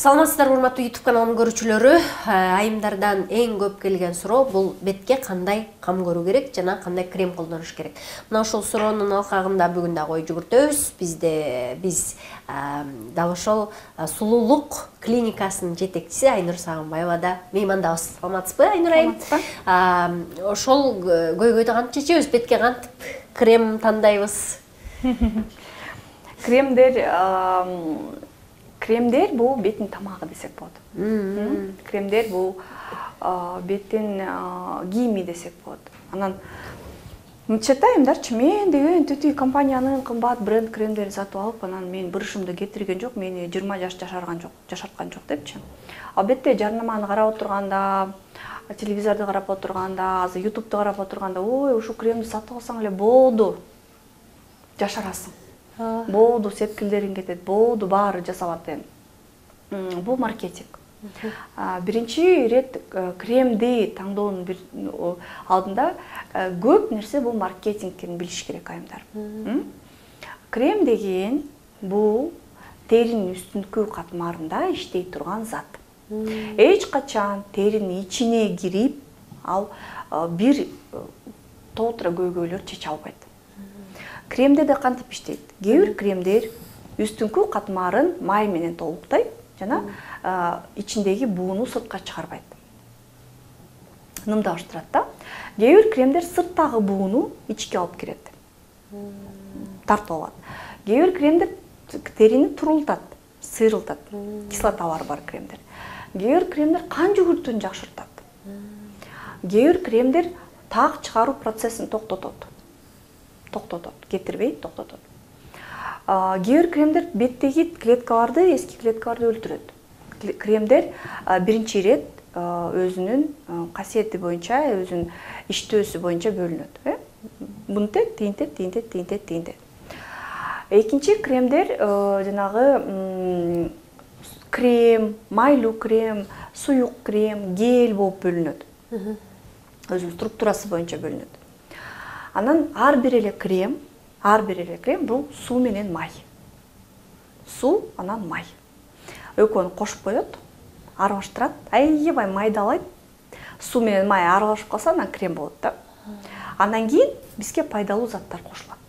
Саламатсыздарбы урматтуу YouTube каналымдын көрүүчүлөрү. Айымдардан эң көп келген суроо бул бетке кандай кам көрүү керек жана кандай крем колдонуш керек. Мына ошол суроонун алкагында бүгүн да ой жүгүртөбүз. Биз дал ошол сулуулук клиникасынын жетекчиси Айнур Сагынбаева да меймандабыз. Саламатсызбы, Айнур айым? Ошол көйгөйдү кантип чечебиз? Бетке кантип крем тандайбыз? Кремдер бул беттин тамагы десек болот. Кремдер бул беттин кийими десек болот. Анан мынча айымдарчы, мен деген тетиги компаниянын кымбат бренд кремдерин сатып алып, анан мен бырышымды кетирген жок, мени 20 жаш жашарткан жок депчи. Албетте жарнаманы карап отурганда, телевизорду карап отурганда, азыр YouTube'ду карап отурганда, ой, ушул кремди сатып алсаң эле болду. Жашарасың. Болду, сепкилдериң кетет, болду, баары жасалат эми. Бул маркетинг. Биринчи ирет кремди таңдоонун алдында көп нерсе бул маркетинг экенин билиш керек айымдар. Крем деген бул теринин үстүнкү катмарында иштей турган зат. Эч качан теринин ичине кирип, ал бир толтура көйгөйлөр чече албайт. Кремдер да кантип иштейт? Кээ бир кремдер үстүнкү катмарын май менен толуктайт жана ичиндеги бууну сыртка чыгарбайт. Нымдаштырат да. Кээ бир кремдер сырттагы бууну ичке алып кирет. Тартып алат. Кээ бир кремдер терини турултат, сыйрылтат. Кислоталары бар кремдер. Кээ бир кремдер кан жүгүртүүнү жакшыртат. Кээ бир кремдер так чыгаруу процессин токтотот, кетирбей токтотот. Кээ бир кремдер беттеги клеткаларды, эски клеткаларды өлтүрөт. Кремдер биринчи ирет өзүнүн касиети боюнча, өзүнүн иштөөсү боюнча бөлүнөт. Мынтет, тинтет. Экинчи кремдер жанагы крем, майлуу крем, суюк крем, гель болуп бөлүнөт. Өзүнүн структурасы боюнча бөлүнөт. Анан ар бир эле крем бул суу менен май. Суу, анан май. Экөөнү кошуп коет, аралаштырат, аябай майдалайт. Суу менен май аралашып калса, анан крем болот да. Андан кийин бизге пайдалуу заттар кошулат.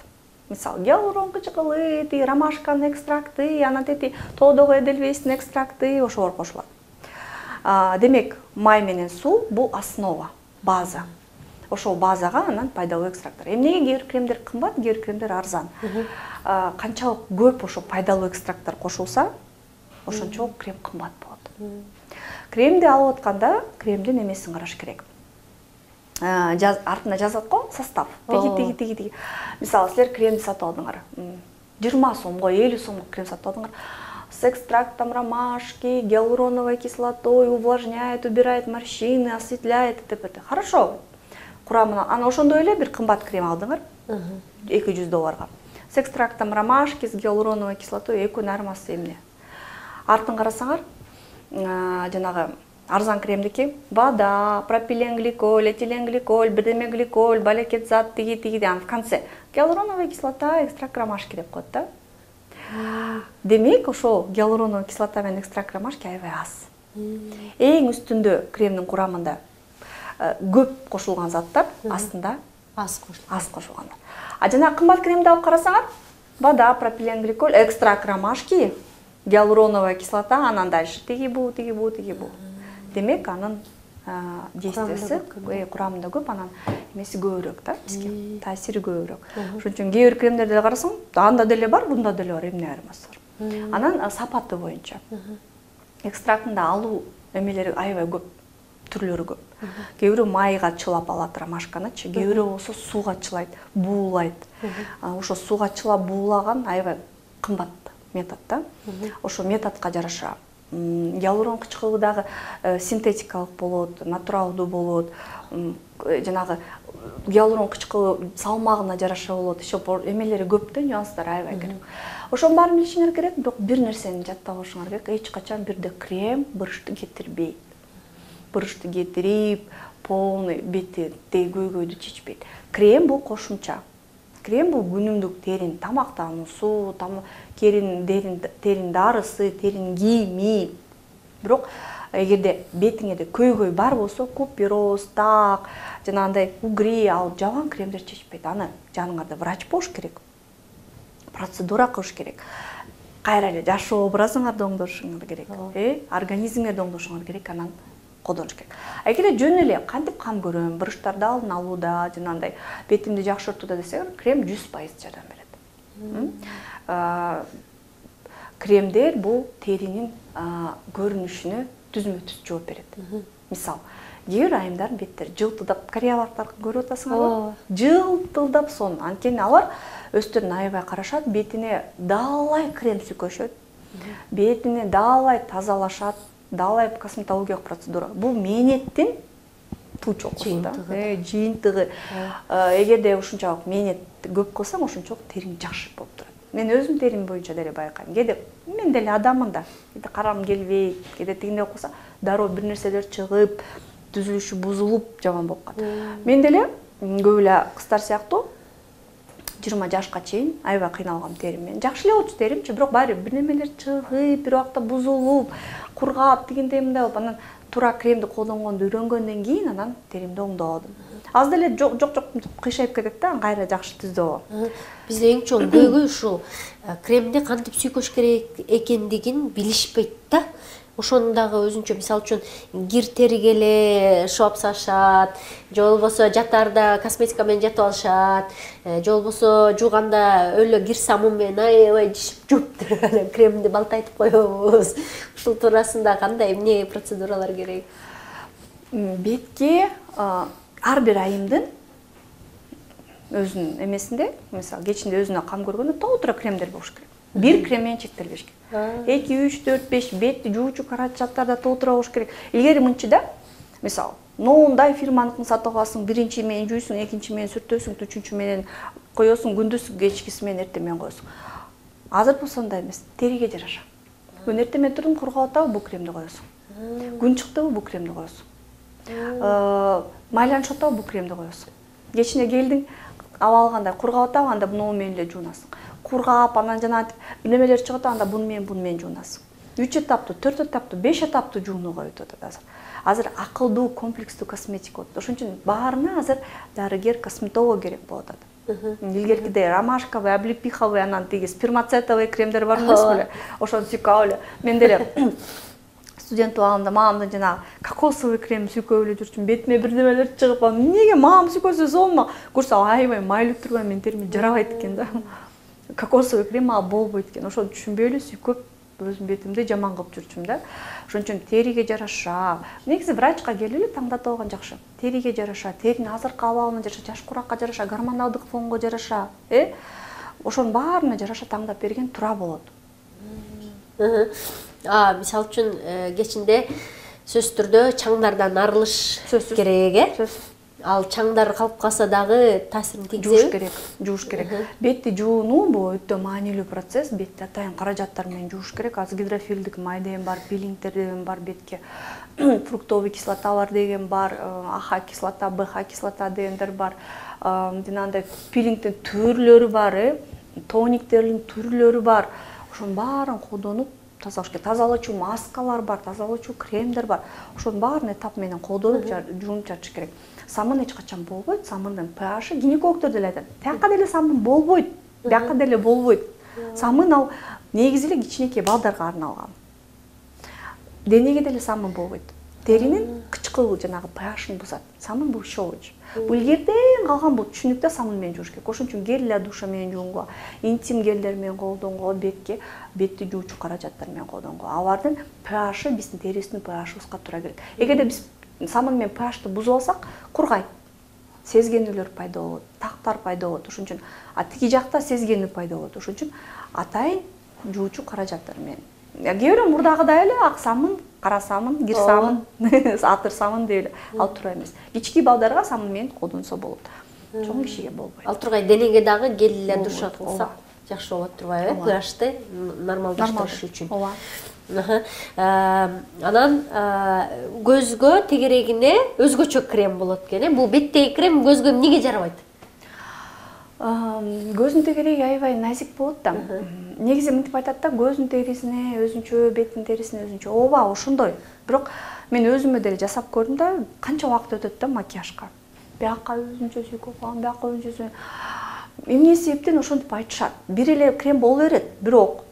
Мисалы, гиалурон кычкылы, ромашканын экстракты, анан тоодогу эдельвейстин экстракты, ошолор кошулат. Демек, май менен суу бул основа, база. Ошол базага анан пайдалуу экстракттар. Эмнеге кээ бир кремдер кымбат, кээ бир кремдер арзан. Канчалык көп ошо пайдалуу экстракттар кошулса, ошончолук крем кымбат болот. Кремди алып атканда, кремдин эмесин караш керек. Артына жазат го, состав. Тиги. Мисалы, силер кремди сатып алдыңар. 20 сомго, 50 сомго крем сатып алдыңар. С экстрактом ромашки, гиалуроновой кислотой, увлажняет, убирает морщины, осветляет, т.п. Хорошо. Курамына, ана ошондой эле бир кымбат крем алдыңар, $200. С экстрактом ромашки, с гиалуроновой кислотой экөөнүн айырмасы эмне? Артын карасаңар, жанагы арзан кремдики вода, пропиленгликоль, этиленгликоль, бирдеме гликоль, балекет зат, тиги, анан в конце гиалуроновая кислота, экстракт ромашки деп коет да. Демек, ошол гиалуроновая кислота менен экстракт ромашки аябай аз. Эң үстүндө кремдин курамында көп кошулган заттар, астында аз кошулгандар. Жана кымбат кремди алып карасаңар, вода, пропиленгликоль, экстракт ромашки, гиалуроновая кислота, анан дальше тиги бу. Демек, анын действиясы курамында көп, анан эмеси көбүрөөк да, бизге таасири көбүрөөк. Ошон үчүн кээ бир кремдерди карасаң, анда деле бар, бунда деле бар, эмне айырмасы бар. Анан сапаты боюнча экстрактында алуу эмелери аябай көп, түрлөрү көп. Кээ бирөө майга чылап алат ромашканычы, кээ бирөө болсо сууга чылайт, буулайт. Ошо сууга чылап буулаган аябай кымбат метод да. Ошо методко жараша гиалурон кычкылы дагы синтетикалык болот, натуралдуу болот. Жанагы гиалурон кычкылы салмагына жараша болот. Ошо эмелери көп да, нюанстары аябай керек. Ошонун баарын билишиңер керек, бирок бир нерсени жаттап алышыңар керек. Эч качан бирде крем бырышты кетирбейт. Бырышты кетирип, полный бетти көйгөйдү чечпейт. Крем бул кошумча. Крем бул күнүмдүк терин тамактануусу, терин дарысы, терин кийими, Бирок эгерде бетиңеде көйгөй бар болсо, купероз, так, жанагындай угри, ал жабан кремдер чечпейт. Аны жаныңарда врач болуш керек. Процедура кылыш керек. Кайра эле жашоо образыңарды оңдошуңар керек. Организмиңерди оңдошуңар керек, анан колдонуш керек. Эгерде жөн эле кантип кам көрөм, буручтарды алдын алууда, жанагындай бетимди жакшыртууда десеңер, крем 100% жардам берет. Кремдер бул теринин көрүнүшүнө түзмө-түз жооп берет. Мисал, кээ бир айымдардын беттери жылтылдап, кореялыктарды көрүп атасыңарбы? Жылтылдап сон. Анткени алар өздөрүн аябай карашат, бетине даалай крем сүкөшөт, бетине даалай тазалашат, даалай косметологиялык процедура. Бул мээнеттин тучокусу да, жыйынтыгы. Эгерде ушунчалык мээнет көп кылсаң, ошончолук териң жакшы болуп турат. Мен өзүм терим боюнча деле байкайм. Кээде мен деле адаммын да. Кээде карам келбейт, кээде тигиндей кылса, дароо бир нерселер чыгып, түзүлүшү бузулуп, жаман болуп калат. Мен деле көп эле кыздар сыяктуу 20 жашка чейин аябай кыйналгам териммен. Жакшы эле болчу теримчи, бирок баары бир немелер чыгып, бир убакта бузулуп, кургап, тигиндей мындай болуп, анан туура кремди колдонгонду үйрөнгөндөн кийин анан теримди оңдодум. Аз деле жок кыйшайып кетет да, кайра жакшы түздү. Бизде эң чоң көйгөй ушул кремди кантип сүйкөш керек экендигин билишпейт да. Ошону дагы өзүнчө, мисалы үчүн кир териге эле шоп сашат, же болбосо жатарда косметика менен жатып алышат, же болбосо жууганда өлө кир саму менен аябай жишип жууп туруп эле кремди балтайтып коебуз. Ушул туурасында кандай эмне процедуралар керек? Бетке ар бир айымдын өзүнүн эмесинде, мисалы, кечинде өзүнө кам көргөндө толтура кремдер болуш керек. Бир крем менен чектелбеш керек. 2, 3, 4, 5 бетти жуучу карачаттарда толтура болуш керек. Илгери мынчы да, мисалы, ноундай фирманыкын сатып аласың, биринчи менен жуйсуң, экинчи менен сүртөсүң, үчүнчү менен коесуң, күндүз, кечкиси менен, эртең менен коесуң. Азыр болсо андай эмес, териге жараша. Күн эртең менен турдуң, кургап атабы, бул кремди коесуң. Күн чыктыбы, бул кремди коесуң. Майланышып атабы, бул кремди коесуң. Кечине келдиң, аба алгандай кургап атабы, анда буну менен эле жуунасың. Кургап, анан жана немелер чыгып, анда буну менен жуунасың. 3 этаптуу, 4 этаптуу, 5 этаптуу жуунууга өтүп атат азыр. Азыр акылдуу, комплекстүү косметика болот. Ошон үчүн баарына азыр дарыгер, косметолог керек болуп атат. Илгеркидей ромашковый, облепиховый, анан тиги спермацетовый кремдер бар эмес беле? Ошону сүйкөп эле. Мен деле студент убагымда мамамдын жанагы кокосовый крем сүйкөп эле жүрчүмүн. Бетиме бир немелер чыгып, эмнеге мамам сүйкөсө сонма? Көрсө аябай майлып турган, мен териме жарабайт экен да. Кокосовый крем ага болбойт экен. Ошону түшүнбөй эле сүйкөп өзүм бетимди жаман кылып жүрчүм да. Ошон үчүн териге жараша. Негизи врачка келип эле таңдатып алган жакшы. Териге жараша, теринин азыркы абалына жараша, жаш куракка жараша, гормоналдык фонго жараша, ошонун баарына жараша таңдап берген туура болот. Мисалы үчүн кечинде сөзсүз түрдө чаңдардан арылыш керек, Ал чаңдар калып калса дагы таасирин тийгизеби? Жууш керек. Бетти жуунуу бул өтө маанилүү процесс. Бетти атайын каражаттар менен жууш керек. Азыр гидрофилдик май деген бар, пилингтер деген бар бетке. Фруктовый кислоталар деген бар, АХ кислота, БХ кислота дегендер бар. Жанагындай пилингдин түрлөрү бар, тониктердин түрлөрү бар. Ошонун баарын колдонуп тазалаш керек. Тазалоочу маскалар бар, тазалоочу кремдер бар. Ошонун баарын этап менен колдонуп жуунуп жатыш керек. Самын эч качан болбойт. Самындын pH гинекологдор деле айтат. Тияка деле самын болбойт. Бияка деле болбойт. Самын ал негизи эле кичинекей балдарга арналган. Денеге деле самын болбойт. Теринин кычкыл жанагы pH-ын бузат. Самын бул щелочь. Бул илгертен калган бул түшүнүктө самын менен жууш керек. Ошон үчүн гель для душа менен жуунгула, интим гелдер менен колдонгула, бетти жуучу каражаттар менен колдонгула. Алардын pH-ы биздин терибиздин pH-ыбызга туура келет. Эгерде биз самын менен pH-ты бузуп алсак, кургайт. Сезгенүүлөр пайда болот, тактар пайда болот. Ошон үчүн тиги жакта сезгенүү пайда болот. Ошон үчүн атайын жуучу каражаттар менен. Кээ бирөө мурдагыдай эле ак самын, кара самын, кир самын, атыр самын деп эле ал туура эмес. Кички балдарга самын менен колдонсо болот. Чоң кишиге болбойт. Ал тургай денеге дагы гель для душа кылсак жакшы болот турбайбы? pH-ты нормалдаштырыш үчүн. Анан көзгө тегерегине өзгөчө крем болот экен. Бул беттеги крем көзгө эмнеге жарабайт? Көздүн тегереги аябай назик болот да. Негизи мынтип айтат да, көздүн терисине өзүнчө, беттин терисине өзүнчө. Ооба, ошондой. Бирок мен өзүмө деле жасап көрдүм да, канча убакыт өтөт да макияжга. Бияка өзүнчө сүйкөп калган, бияка өзүнчө. Эмне себептен ошентип айтышат. Бир эле крем боло берет, бирок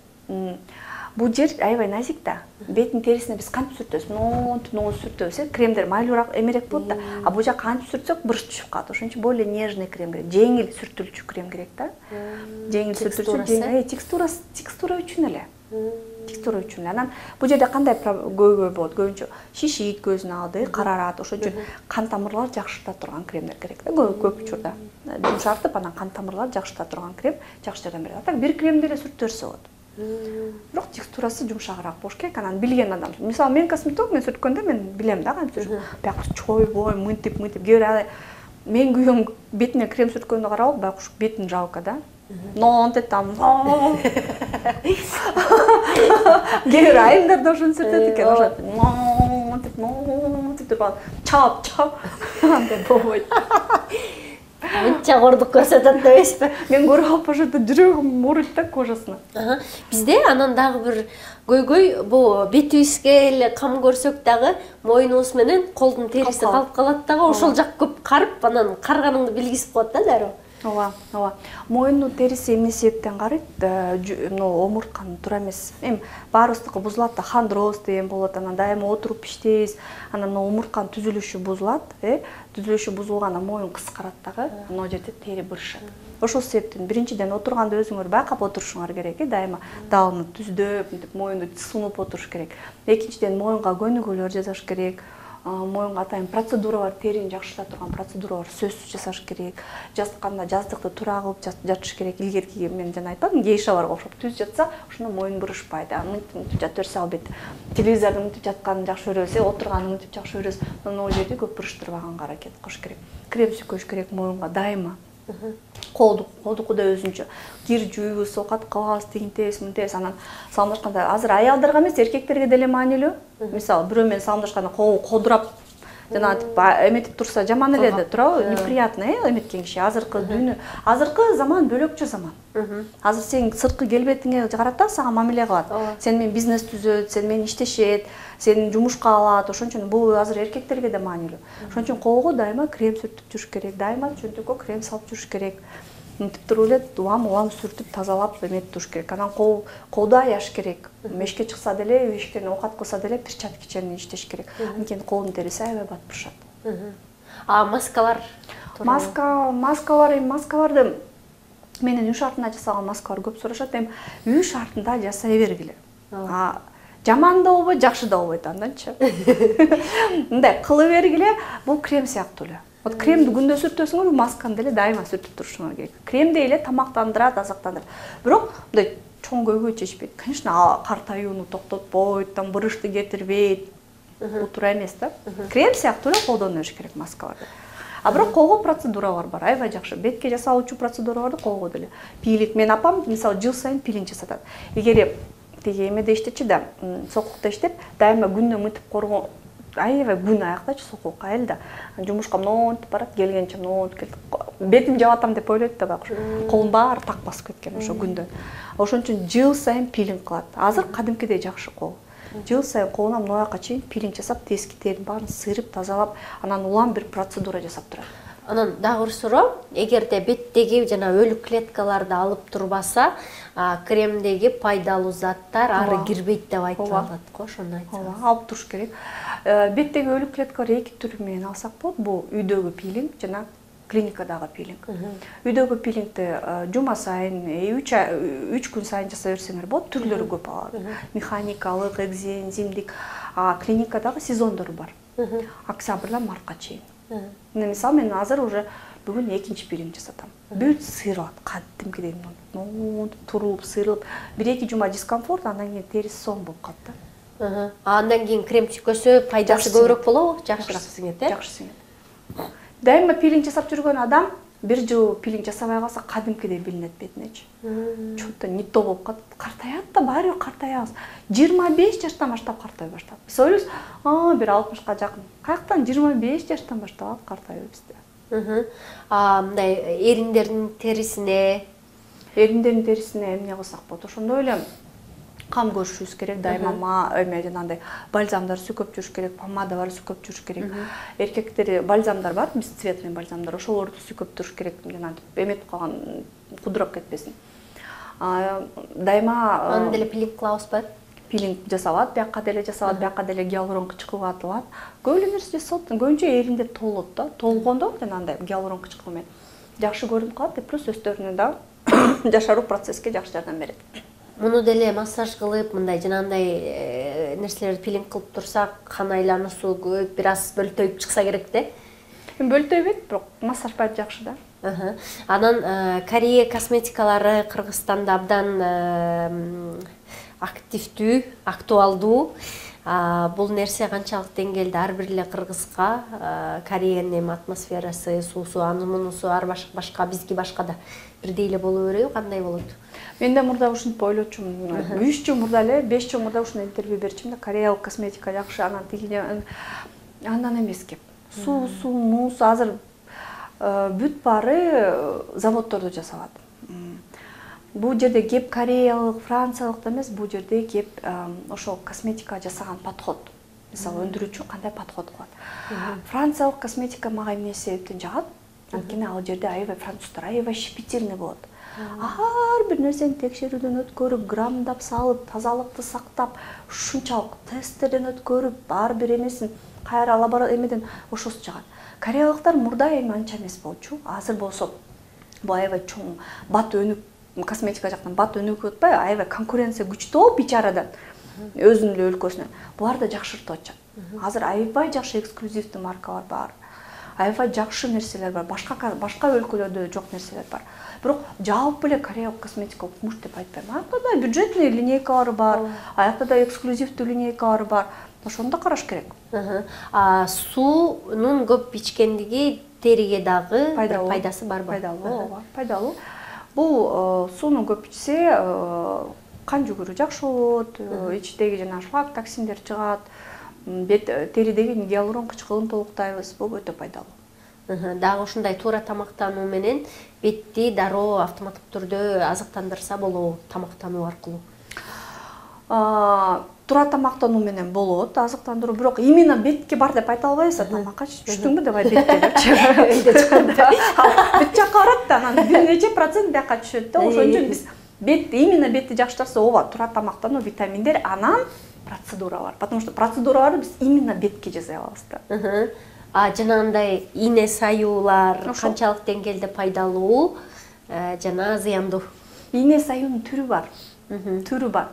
бул жер аябай назик да. Беттин терисине биз кантип сүртөбүз? Монтип сүртөбүз, кремдер майлуураак, эмерээк болот да. А бул жака кантип сүртсөк бырыш түшүп калат. Ошон үчүн более нежный крем керек, жеңил сүртүлчү крем керек да. Жеңил сүртүлчү, текстура үчүн эле. Текстура үчүн. Анан бул жерде кандай көйгөй болот? Көбүнчө шишийт көздүн алды, карарат. Ошон үчүн кан тамырлар жакшырта турган кремдер керек да. Көп учурда жумшартып, анан кан тамырлар жакшырта турган крем жакшы жардам берет. Так бир кремди эле сүртүп берсе болот. Бирок текстурасы жумшагыраак болуш керек. Анан билген адам. Мисалы мен косметолог, мен сүрткөндө мен билем да кантип сүртүш. Бияк чойбой, мынтип, кээ бир мен күйөөм бетине крем сүрткөндө карап, байкуш бетин жалко да. Монтип там. Кээ бир айымдар да ошону сүртөт экен, ошо. Монтип чап. Андай болбойт. Мынча кордук көрсөтөт дебейсизби? Мен көрүп алып ошондо жүрөгүм ооруйт да кожасына. Бизде анан дагы бир көйгөй, бул бетибизге эле кам көрсөк дагы моюнубуз менен колдун териси калып калат дагы, ошол жак көп карып, анан карыганыңды билгизип коет да дароо. Ооба. Моюндун териси эмне себептен карыйт? Омуртканын туура эмес. Эми баарыбыздыкы бузулат да, хондроз деген болот, анан дайыма отуруп иштейбиз. Анан омуртканын түзүлүшү бузулат, түзүлүшү бузулгандан моюн кыскарат дагы, анан ал жерде тери бырышат. Ошол себептен биринчиден отурганда өзүңөр байкап отурушуңар керек, дайыма далны түздөп, мынтип моюнду сунуп отуруш керек. Экинчиден моюнга көнүгүүлөр жасаш керек. Моюнга атайын процедуралар, терини жакшырта турган процедуралар сөзсүз жасаш керек. Жатканда жаздыкты туура кылып жатыш керек. Илгерки мен жана айтпадым, гейшаларга окшоп түз жатса, ошондо моюн бырышпайт. Мынтип жата берсе, албет телевизордун мынтип жатканын жакшы көрөбүз, отурганын мынтип жакшы көрөбүз. Ал жерде көп бырыштырбаганга аракет кылыш керек. Крем сүркөш керек моюнга дайыма. Колдуку да өзүнчө. Кир жууйбуз, оокат кылабыз, тигинтебиз, мынтебиз. Анан салымдашканда азыр аялдарга эмес, эркектерге деле маанилүү. Мисалы, бирөө менен салымдашканда кол кодурап, жана эметип турса жаман эле да, туурабы? Неприятно, эметкен киши. Азыркы дүйнө, азыркы заман бөлөкчө заман. Азыр сен сырткы келбетиңе карата сага мамиле кылат. Сен менен бизнес түзөт, сен менен иштешет, сени жумушка алат. Ошон үчүн бул азыр эркектерге да маанилүү. Ошон үчүн колго дайыма крем сүртүп жүрүш керек, дайыма чөнтөккө крем салып жүрүш керек. Мынтип туруп эле улам сүртүп тазалап эметип туруш керек. Анан колду аяш керек. Мешке чыкса деле, эшиктен оокат кылса деле перчаткичен иштеш керек. Анткени колдун териси аябай батпырышат. А маскалар? Маскаларды менен үй шартында жасалган маскалар көп сурашат. Эми үй шартында жасай бергиле. Жаман да болбойт, жакшы да болбойт анданчы. Мындай кылып бергиле, бул крем сыяктуу эле. Вот кремди күндө сүртөсүңөр, масканы деле дайыма сүртүп турушуңар керек. Крем деле тамактандырат, азыктандырат. Бирок мындай чоң көйгөй чечпейт. Конечно, картаюуну токтотпойт, там бырышты кетирбейт. Бул туура эмес да. Крем сыяктуу эле колдоно бериш керек маскаларды. А бирок колго процедуралар бар, аябай жакшы. Бетке жасалуучу процедураларды колго деле. Пилинг, мен апам мисалы жыл сайын пилинг жасатат. Эгер тиги эмеде иштечи да, сокулукта иштеп, дайыма күндө мынтип коргоо, аябай күн аяктачы сокулук айыл да. Жумушка монтип барат, келгенче монтип келет. Бетим жабатам деп ойлойт да байкуш. Колун баары так басып кеткен ошо күндөн. Ошон үчүн жыл сайын пилинг кылат. Азыр кадимкидей жакшы кол. Жыл сайын колуна мынаяка чейин пилинг жасап, тески теринин баарын сыйрып, тазалап, анан улам бир процедура жасап турат. Анан дагы бир суроо, эгерде беттеги жана өлүк клеткаларды алып турбаса, кремдеги пайдалуу заттар ары кирбейт деп айтылат го, ошону айтсаңыз. Алып туруш керек. Беттеги өлүк клеткалар эки түрү менен алсак болот. Бул үйдөгү пилинг жана клиникадагы пилинг. Үйдөгү пилингди жума сайын, 3 күн сайын жасай берсеңер болот. Түрлөрү көп алат. Механикалык, экземдик, клиникадагы сезондору бар. Октябрдан мартка чейин. Мисалы мен азыр уже бүгүн экинчи пилинг жасатам. Бүт сыйралат, кадимкидей турулуп, сыйрылып, 1-2 жума дискомфорт, андан кийин териси соң болуп калат да. Андан кийин крем сүркөсө пайдасы көбүрөөк болобу? Жакшыраак сиңет, Жакшы сиңет. Дайыма пилинг жасап жүргөн адам бир жыл пилинг жасабай калса кадимкидей билинет бетинечи. Чөтө не то болуп калат. Картаят да, баары картаябыз. 25 жаштан баштап картай баштап. Биз ойлойбуз, бир 60-ка жакын. Каяктан 25 жаштан баштап картайбыз бизде. Мындай эриндердин терисине эмне кылсак болот? Ошондой эле кам көрүшүбүз керек, дайыма жанагындай бальзамдар сүкөп жүрүш керек, помадалар сүкөп жүрүш керек. Эркектер бальзамдар бар, бесцветный бальзамдар, ошолорду сүкөп туруш керек, жанагынтип эметип калган кудурап кетпесин. Дайыма аны деле пилинг кылабызбы? Пилинг жасалат, бияка деле жасалат, бияка деле гиалурон кычкылы атылат. Көп эле нерсе жасалат, көбүнчө эриндер толот да. Толгондо жанагындай гиалурон кычкылы менен жакшы көрүнүп калат, плюс өстөрүнө да жашаруу процесске жакшы жардам берет. Муну деле массаж кылып, мындай жанагындай нерселерди пилинг кылып турсак, кан айлануусу көп, бир аз бөлтөйүп чыкса керек да. Бөлтөйбөйт, бирок массаж баары жакшы да. Анан Корея косметикалары Кыргызстанда абдан активдүү, актуалдуу. Бул нерсе канчалык деңгээлде ар бир эле кыргызга Кореянын атмосферасы, суусу, анысы ар башка бизге башка да бирдей эле боло береби, кандай болот? Мен да мурда ушинтип ойлочумун. 3 жыл мурда эле, 5 жыл мурда ушундай интервью берчимин да, кореялык косметика жакшы, анан тигине андан эмес кеп. Суусу, муусу азыр бүт баары заводдордо жасалат. Бул жерде кеп кореялык, франциялык да эмес, бул жерде кеп ошол косметика жасаган подход. Мисалы, өндүрүүчү кандай подход кылат. Франциялык косметика мага эмне себептен жагат? Анткени ал жерде аябай француздар аябай щепетильный болот. Ар бир нерсени текшерүүдөн өткөрүп, граммдап салып, тазалыкты сактап, ушунчалык тесттерден өткөрүп, ар бир эмесин кайра лаборатор эмеден ошосу жагат. Кореялыктар мурда эми анча эмес болчу. Азыр болсо бул аябай чоң бат өнүк косметика жактан бат өнүгүп атпайбы? Аябай конкуренция күчтүү бичарадан. Өзүнүн эле өлкөсүнөн. Булар да жакшыртып атышат. Азыр аябай жакшы эксклюзивдүү маркалар бар. Аябай жакшы нерселер бар. Башка өлкөлөрдө жок нерселер бар. Бирок жалпы эле кореялык косметика укмуш деп айтпайм. Аякта да бюджетный линейкалар бар, аякта да эксклюзивдүү линейкалар бар. Ошону да караш керек. Суунун көп ичкендиги териге дагы пайдасы барбы? Пайдалуу. Бул сууну көп ичсе, кан жүгүрүү жакшы болот, ичтеги жана шлак токсиндер чыгат, теридеги гиалурон кычкылын толуктайбыз. Бул өтө пайдалуу. Дагы ушундай туура тамактануу менен бетти дароо автоматтык түрдө азыктандырса болобу, тамактануу аркылуу? Туура тамактануу менен болот, азыктандыруу, бирок именно бетке бар деп айта албайбыз, тамаккачы түштүңбү деп бетке депчи. Үйдө чыкканда бет жакка барат да, анан бир нече процент бияка түшөт да. Ошон үчүн биз именно бетти жакшыртса, ооба, туура тамактануу, витаминдер, анан процедуралар. Потому что процедураларды биз именно бетке жасай алабыз да. Жанагындай ийне саюулар канчалык деңгээлде пайдалуу жана зыяндуу? Ийне саюунун түрү бар.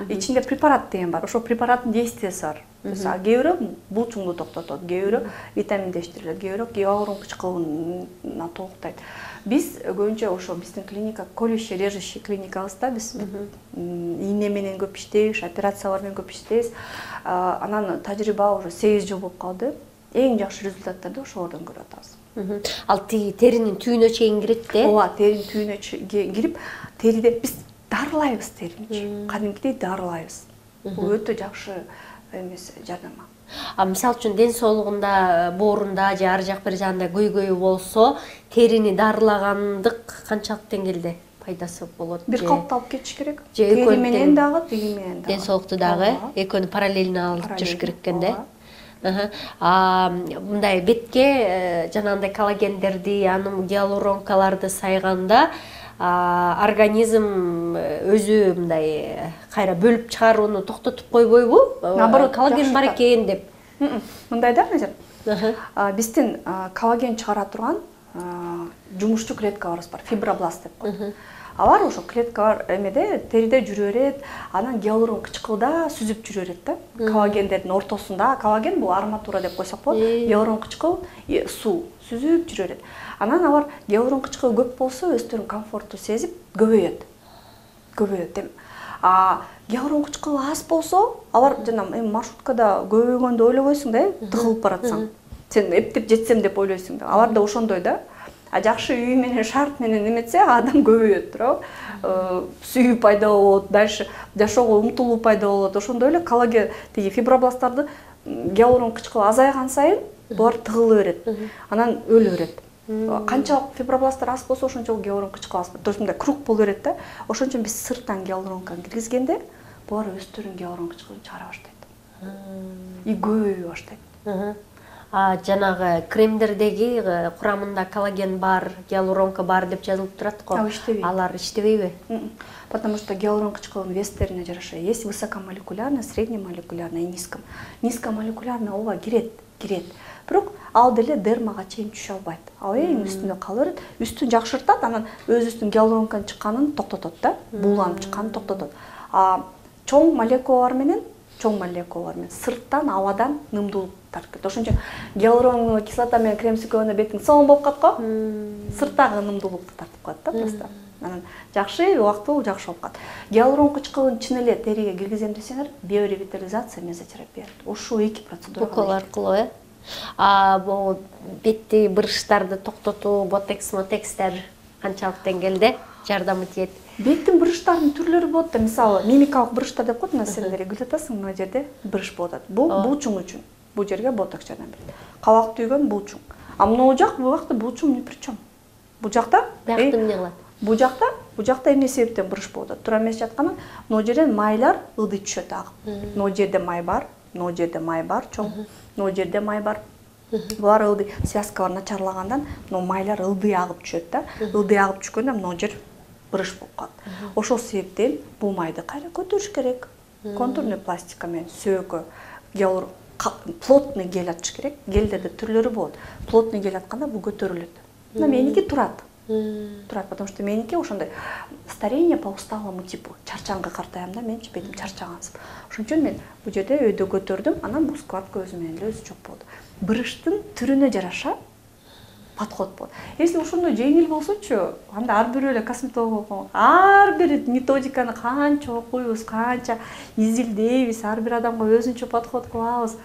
Ичинде препарат деген бар. Ошол препараттын действиясы бар. Мисалы, кээ бирөө булчуңду токтотот, кээ бирөө витаминдештирет, кээ бирөө гиалурон кычкылына толуктайт. Биз көбүнчө ошо биздин клиника колющий, режущий клиникабызда биз ийне менен көп иштейбиз, операциялар менен көп иштейбиз. Анан тажрыйба уже 8 жыл болуп калды. Эң жакшы результаттарды ошолордон көрүп атабыз. Ал теринин түбүнө чейин кирет да? Ооба, теринин түбүнө кирип, териде биз дарылайбыз терини. Кадимкидей дарылайбыз. Бул өтө жакшы эмес жардама. Мисалы үчүн ден соолугунда, боорунда же ар жак бир жагында көйгөйү болсо, терини дарылагандык канчалык деңгээлде пайдасы болот? Бир калыпты алып кетиш керек. Тери менен дагы, тиги менен дагы. Ден соолукту дагы экөөнү параллельно алып жүрүш керек экен да. Мындай бетке жанагындай коллагендерди, анын гиалуронкаларды сайганда организм өзү мындай кайра бөлүп чыгарууну токтотуп койбойбу? Наоборот, коллаген бар экен деп. Мындай да, Назар. Биздин коллаген чыгара турган жумушчу клеткаларыбыз бар, фибробласт деп коет. Алар ошо клеткалар эмеде териде жүрө берет, анан гиалурон кычкылда сүзүп жүрө берет да. Коллагендердин ортосунда, коллаген бул арматура деп койсок болот, гиалурон кычкыл суу сүзүп жүрө берет. Анан алар гиалурон кычкылы көп болсо, өздөрүн комфортту сезип көбөйөт. Гиалурон кычкылы аз болсо, алар жана маршруткада көбөйгөндө ойлобойсуң да, тыгылып баратсаң. Сен эптеп жетсем деп ойлойсуң да. Алар да ошондой да. Жакшы үй менен, шарт менен эметсе, адам көбөйөт, туурабы? Сүйүү пайда болот, дальше жашоого умтулуу пайда болот. Ошондой эле коллаген, тиги фибробласттарды гиалурон кычкылы азайган сайын булар тыгыла берет. Анан өлө берет. Канчалык фибробласттар аз болсо ошончолук гиалурон кычкылабыз. То есть мындай круг боло берет да. Ошон үчүн биз сырттан гиалуронканы киргизгенде булар өздөрүн гиалурон кычкылын чыгара баштайт. И көбөйө баштайт. Жанагы кремдердеги курамында коллаген бар, гиалуронка бар деп жазылып турат го. Алар иштебейби? Потому что гиалурон кычкылынын вестерине жараша. Есть высокомолекулярный, среднемолекулярный и низкомолекулярный ооба кирет. Бирок ал деле дермага чейин түшө албайт. Ал эң үстүндө кала берет. Үстүн жакшыртат, анан өзүнүн гиалуронканын чыкканын токтотот да. Бууланып чыкканын токтотот. Чоң молекулалар менен сырттан абадан нымдуулук таркайт. Ошон үчүн гиалуроновый кислота менен крем сүйкөгөндө бетиң соң болуп калат го. Сырттагы нымдуулукту тартып коет да просто. Анан жакшы убактылуу жакшы болуп калат. Гиалурон кычкылын чын эле териге киргизем десеңер, биоревитализация, мезотерапия. Ушул эки процедура укол аркылуу, бул бетти бырыштарды токтотуу, ботекстер канчалык деңгээлде жардам этет? Беттин бырыштарынын түрлөрү болот да. Мисалы, мимикалык бырыштар деп коет, сен регуль атасың, мына жерде бырыш болуп атат. Бул булчуң үчүн. Бул жерге ботокс жардам берет. Кабак түйгөн булчуң. Могу жакта булчуң не причем. Бул жакта эмне кылат? Бул жакта эмне себептен бырыш болуп атат? Туура эмес жатканын, могу жерден майлар ылдый түшөт агып. Могу жерде май бар, чоң. Могу жерде май бар. Булар ылдый, связкалар начарлагандан, майлар ылдый агып түшөт да. Ылдый агып түшкөндө могу жер бырыш болуп калат. Ошол себептен бул майды кайра көтөрүш керек. Контурный пластика менен сөөгө гиалурон плотный гель атыш керек. Гелдерде түрлөрү болот. Плотный гель атканда бул көтөрүлөт. Мына меники турат, потому что меники ошондой старение по усталому типу. Чарчаңга картаям да, менчи бетим чарчагансып. Ошон үчүн мен бул жерде өйдө көтөрдүм, анан бул складка өзү менен эле өзү чок болду. Бырыштын түрүнө жараша подход болот. Если ошондой жеңил болсочу, анда ар бирөө эле косметолог болот. Ар бир методиканы канча окуйбуз, канча изилдейбиз, ар бир адамга өзүнчө подход кылабыз.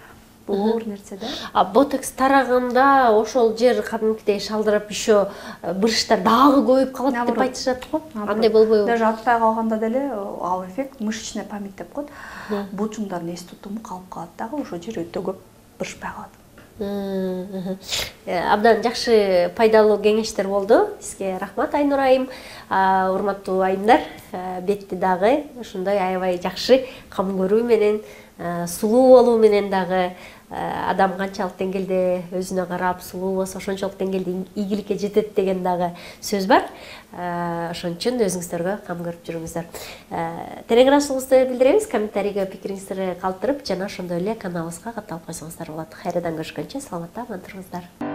Бул оор нерсе да. Ботокс тараганда ошол жер кадимкидей шалдырап еще бырыштар дагы көбөйүп калат деп айтышат го. Андай болбойбу? Даже атпай калганда деле ал эффект мышечная память деп коет. Булчуңдардын эс тутуму калып калат дагы, ошол жер өтө көп бырышпай калат. Абдан жакшы пайдалуу кеңештер болду. Сизге рахмат Айнур айым. Урматтуу айымдар, бетти дагы ушундай аябай жакшы кам көрүү менен, сулуу болуу менен дагы адам канчалык деңгээлде өзүнө карап сулуу болсо ошончолук деңгээлде ийгиликке жетет деген дагы сөз бар. Ошон үчүн өзүңүздөргө кам көрүп жүрүңүздөр. Терең ырашыңызды билдиребиз, комментарийге пикириңизди калтырып, жана ошондой эле каналыбызга катталып койсоңуздар болот. Кайрадан көрүшкөнчө саламатта аман туруңуздар.